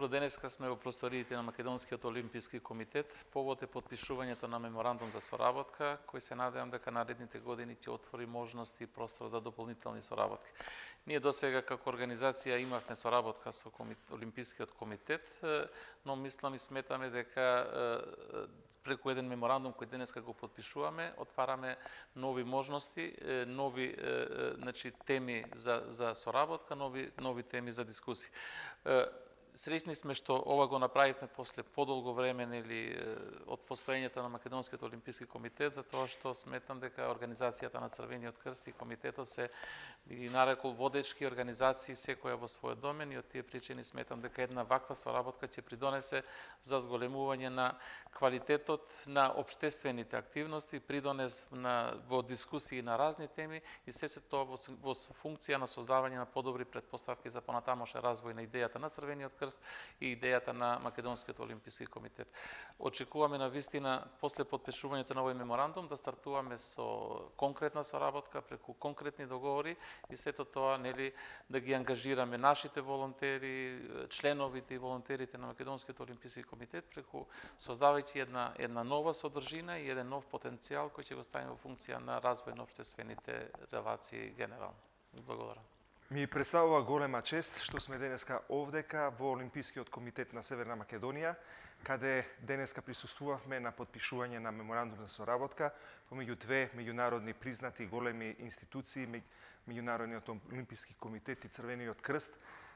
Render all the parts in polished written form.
Добро, денеска сме во просториите на Македонскиот олимписки комитет. Повод е подпишувањето на меморандум за соработка, кој се надевам дека наредните години ќе отвори можности и простор за дополнителни соработки. Ние досега како организација имавме соработка со Олимпискиот комитет, но мислам и сметаме дека преку еден меморандум кој денеска го подпишуваме, отвараме нови можности, нови теми за соработка, нови теми за дискусии. Среќни сме што ова го направивме после подолго време од постоењето на Македонскиот олимписки комитет, затоа што сметам дека организацијата на Црвениот крст и комитетот се би ги нарекол водечки организации секоја во својот домен, и од тие причини сметам дека една ваква соработка ќе придонесе за зголемување на квалитетот на општествените активности, придонес во дискусии на разни теми и се тоа во функција на создавање на подобри претпоставки за понатамошен развој на идејата на Црвениот крст и идејата на Македонскиот олимписки комитет. Очекуваме на вистина после подпишувањето на овој меморандум да стартуваме со конкретна соработка преку конкретни договори и сето тоа да ги ангажираме нашите волонтери, членовите и волонтерите на Македонскиот олимписки комитет преку создавајќи една нова содржина и еден нов потенцијал кој ќе го ставиме во функција на развој на општествените релации генерално. Благодарам. Ми представува голема чест што сме денеска овдека во Олимпискиот комитет на Северна Македонија, каде денеска присуствувавме на подпишување на меморандум за соработка помеѓу две меѓународни признати големи институции, Меѓународниот олимписки комитет и Црвениот крст,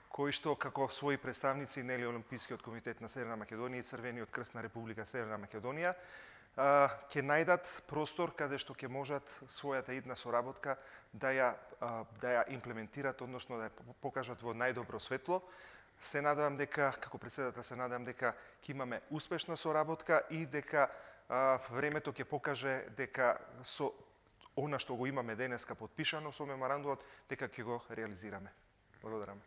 кои што како своји представници Олимпискиот комитет на Северна Македонија и Црвениот крст на Република Северна Македонија ќе најдат простор каде што ќе можат својата идна соработка да ја имплементират, односно да ја покажат во најдобро светло. Се надевам дека, како председател, ќе имаме успешна соработка и дека времето ќе покаже дека со она што го имаме денеска подпишано со меморандумот, дека ќе го реализираме. Благодарам.